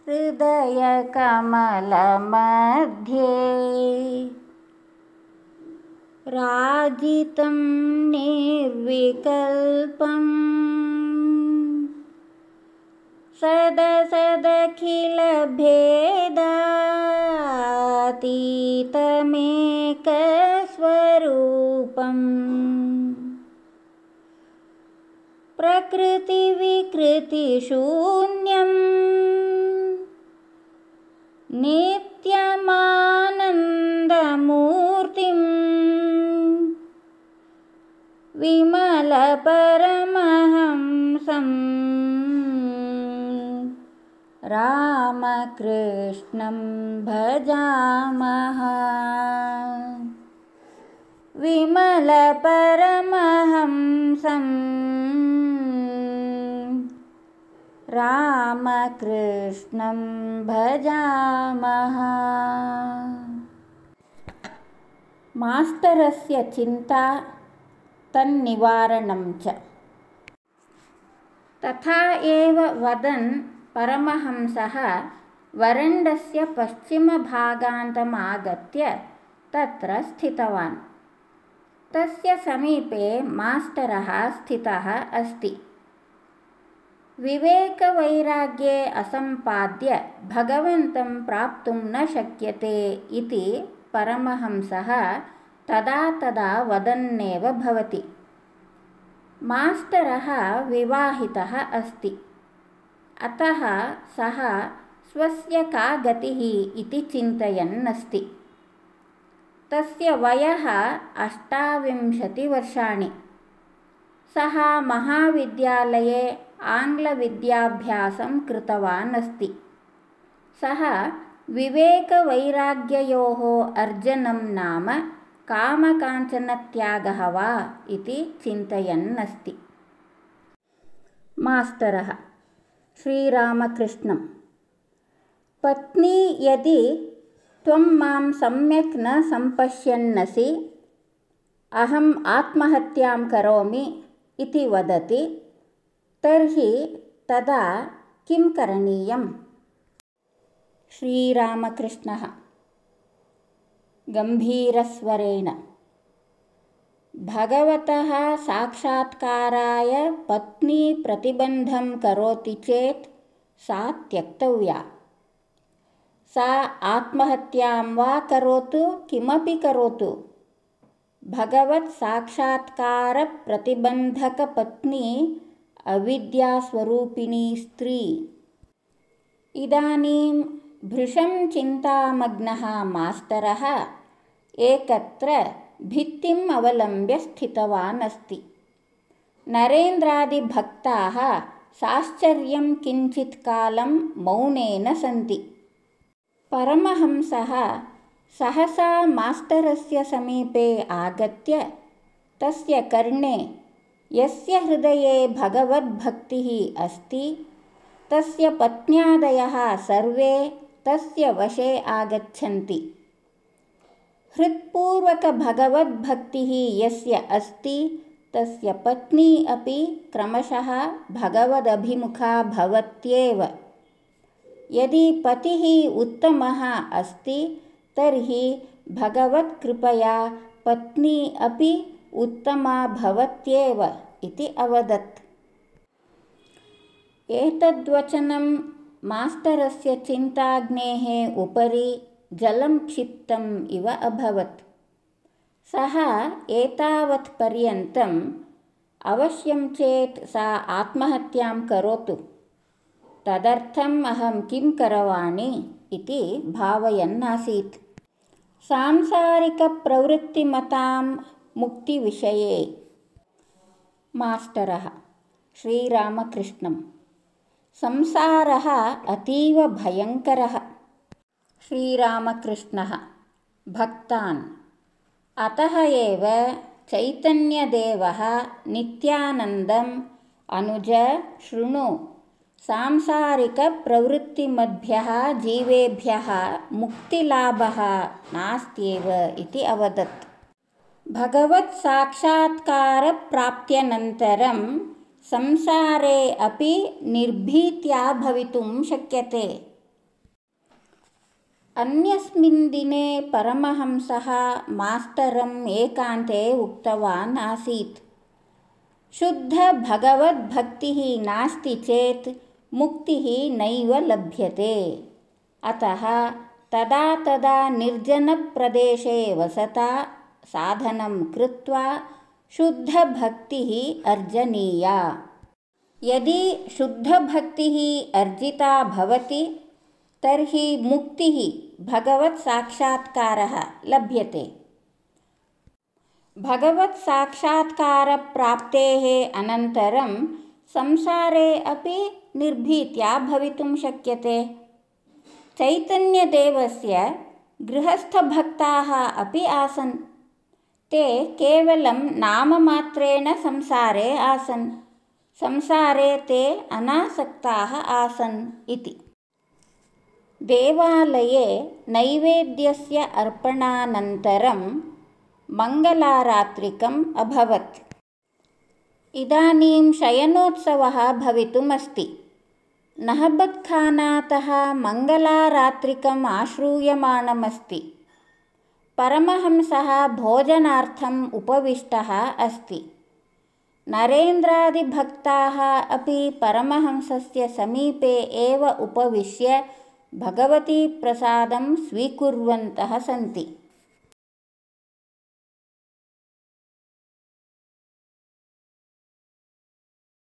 हृदयकमलमध्ये राजितं निर्विकल्पं सदसदखिलभेदातीतमेकस्वरूपम् प्रकृतिविकृतिशून्यं नित्यमानन्दमूर्तिं विमलपरमहंसं रामकृष्णं भजामः। विमलपरमहंसं रामकृष्णं भजामः। मास्टरस्य चिन्ता तन्निवारणं च। तथा एव वदन् परमहंसः वरण्डस्य पश्चिमभागान्तमागत्य तत्र स्थितवान्। तस्य समीपे मास्टरः स्थितः अस्ति। विवेकवैराग्ये असम्पाद्य भगवन्तं प्राप्तुं न शक्यते इति परमहंसः तदा तदा वदन्नेव भवति। मास्टरः विवाहितः अस्ति। अतः सः स्वस्य का गतिः इति चिन्तयन् अस्ति। तस्य वयः 28 वर्षाणि। सः महाविद्यालये आङ्ग्लविद्याभ्यासं कृतवान् अस्ति। सः विवेकवैराग्ययोः अर्जनं नाम कामकाञ्चनत्यागः वा इति चिन्तयन् अस्ति। मास्टरः: श्रीरामकृष्णं, पत्नी यदि त्वं मां सम्यक् न सम्पश्यन्नसि, अहम् आत्महत्यां करोमि इति वदति, तर्हि तदा किं करणीयम्? श्रीरामकृष्णः गम्भीरस्वरेण: भगवतः साक्षात्काराय पत्नी प्रतिबन्धं करोति चेत् सा त्यक्तव्या। सा आत्महत्यां वा करोतु, किमपि करोतु, भगवत् साक्षात्कारप्रतिबन्धकपत्नी अविद्यास्वरूपिणी स्त्री। इदानीं भृशं चिन्तामग्नः मास्टरः एकत्र भित्तिम् अवलम्ब्य स्थितवान् अस्ति। नरेन्द्रादिभक्ताः साश्चर्यं किञ्चित् कालं मौनेन सन्ति। परमहंसः सहसा मास्टरस्य समीपे आगत्य तस्य कर्णे, यस्य हृदये भगवद्भक्तिः अस्ति, तस्य पत्न्यादयः सर्वे तस्य वशे आगच्छन्ति। हृत्पूर्वकभगवद्भक्तिः यस्य अस्ति, तस्य पत्नी अपि क्रमशः भगवदभिमुखा भवत्येव। यदि पतिः उत्तमः अस्ति, तर्हि भगवत्कृपया पत्नी अपि उत्तमा भवत्येव इति अवदत्। एतद्वचनं मास्टरस्य चिन्ताग्नेः उपरि जलं क्षिप्तम् इव अभवत्। सः एतावत् पर्यन्तम् अवश्यं चेत् सा आत्महत्यां करोतु, तदर्थम् अहं किं करवाणि इति भावयन् आसीत्। सांसारिकप्रवृत्तिमतां मुक्तिविषये। मास्टरः: श्रीरामकृष्णं, संसारः अतीव भयङ्करः। श्रीरामकृष्णः भक्तान्: अतः एव चैतन्यदेवः नित्यानन्दम् अनुज शृणु, सांसारिकप्रवृत्तिमद्भ्यः जीवेभ्यः मुक्तिलाभः नास्त्येव इति अवदत्। भगवत् साक्षात्कारप्राप्त्यनन्तरं संसारे अपि निर्भीत्या भवितुं शक्यते। अन्यस्मिन् दिने परमहंसः मास्तरम् एकान्ते उक्तवान् आसीत्, शुद्धभगवद्भक्तिः नास्ति चेत् मुक्तिः नैव लभ्यते। अतः तदा तदा निर्जनप्रदेशे वसता साधनं कृत्वा शुद्धभक्तिः अर्जनीया। यदि शुद्धभक्तिः अर्जिता भवति तर्हि मुक्तिः भगवत्साक्षात्कारः लभ्यते। भगवत्साक्षात्कारप्राप्तेः अनन्तरं संसारे अपि निर्भीत्या भवितुं शक्यते। चैतन्यदेवस्य गृहस्थभक्ताः अपि आसन्। ते केवलं नाममात्रेण संसारे आसन्। संसारे ते अनासक्ताः आसन् इति। देवालये नैवेद्यस्य अर्पणानन्तरं मङ्गलारात्रिकम् अभवत्। इदानीं शयनोत्सवः भवितुमस्ति। नहबत्खानातः मङ्गलारात्रिकम् आश्रूयमाणमस्ति। परमहंसः भोजनार्थम् उपविष्टः अस्ति। नरेन्द्रादिभक्ताः अपि परमहंसस्य समीपे एव उपविश्य भगवतीप्रसादं स्वीकुर्वन्तः सन्ति।